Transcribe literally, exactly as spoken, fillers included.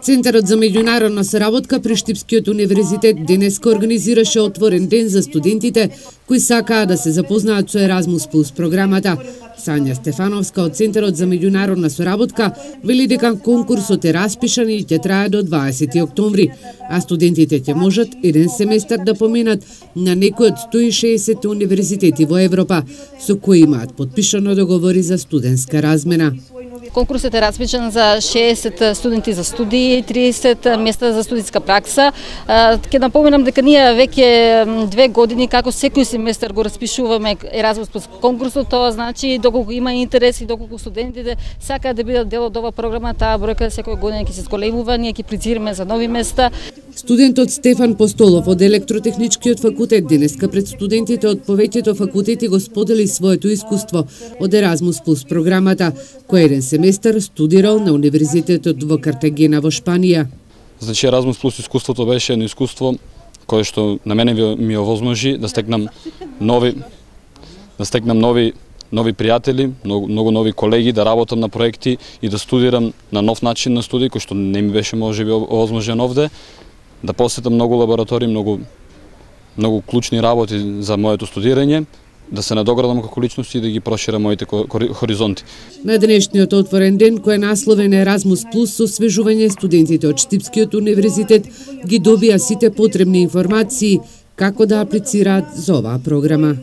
Центарот за меѓународна соработка при Штипскиот универзитет денеска организираше отворен ден за студентите кои сакаат да се запознаат со Еразмус плюс програмата. Сања Стефановска од Центарот за меѓународна соработка вели дека конкурсот е распишан и ќе трае до дваесети октомври, а студентите ќе можат еден семестар да поминат на некој од сто и шеесет универзитети во Европа, со кои имаат подпишано договори за студентска размена. Конкурсот е распишан за шеесет студенти за студии и триесет места за студиска пракса. Ќе напоменам дека ние веќе две години како секој семестар го распишуваме Еразмус плюс конкурсот, тоа значи доколку има интерес и доколку студентите сакаат да бидат дел од оваа програма, таа бројка секоја година ќе се зголемува, ние ќе плицираме за нови места. Студентот Стефан Постолов од Електротехничкиот факултет денеска пред студентите од повеќето факултети го сподели своето искуство од Еразмус плюс програмата, кој еден семестар студирал на универзитетот во Картагена во Шпанија. Значи Еразмус плюс искуството беше едно искуство кое што на мене ми овозможи да стекнам нови да стекнам нови нови пријатели, многу, многу нови колеги, да работам на проекти и да студирам на нов начин на студии кој што не ми беше можеби овозможен овде, да посетам многу лаборатории, многу многу клучни работи за моето студирање, да се надоградам како личност и да ги проширам моите хоризонти. На денешниот отворен ден, кој е насловен Еразмус плюс со освежување, студентите од Штипскиот универзитет ги добија сите потребни информации како да аплицираат за оваа програма.